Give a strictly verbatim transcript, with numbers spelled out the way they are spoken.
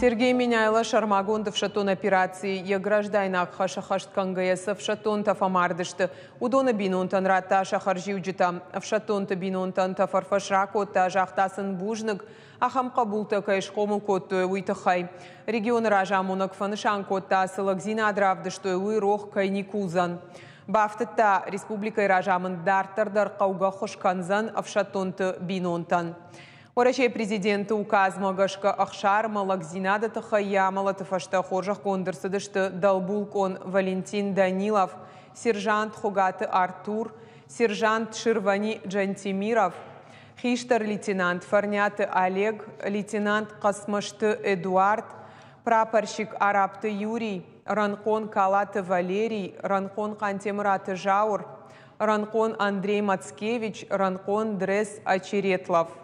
Сергей Меняйло сӕрмагонд ӕфсӕддон операцийы йӕ граждайнаг хӕс ӕххӕст кӕнгӕйӕ цы ӕфсӕддонтӕ фӕмард сты, уыдоны бинонтӕн радта сӕ хӕрзиуджытӕ. Ӕфсӕддонты бинонтӕн тӕфӕрфӕс ракодта, загъта сын бузныг, ахӕм хъӕбултӕ кӕй схъомыл кодтой, уый тыххӕй. Регионы разамонӕг фӕнысан кодта, цы лӕгдзинад равдыстой, уый рох кӕй никуы уыдзӕн. Бафтыдта, республикӕйы разамынд дарддӕр дӕр хъӕугӕ ӕххуыс кӕндзӕн ӕфсӕддонты бинонтӕн. Уӕрӕсейы президенты указмӕ гӕсгӕ ӕхсар ӕмӕ лӕгдзинады тыххӕй йӕ амӕлӕты фӕстӕ хорзӕхгонд ӕрцыдысты дӕлбулкъон Валентин Данилов, сержант Хуыгаты Артур, сержант Ширвани Джантемиров, хистӕр лейтенант Фӕрниаты Олег, лейтенант Хъӕцмӕзты Эдуард, прапорщик Арабты Юрий, рӕнхъон Калаты Валерий, рӕнхъон Хъантемыраты Зауыр, рӕнхъон Андрей Мацкевич, рӕнхъон Дрес Очеретлов.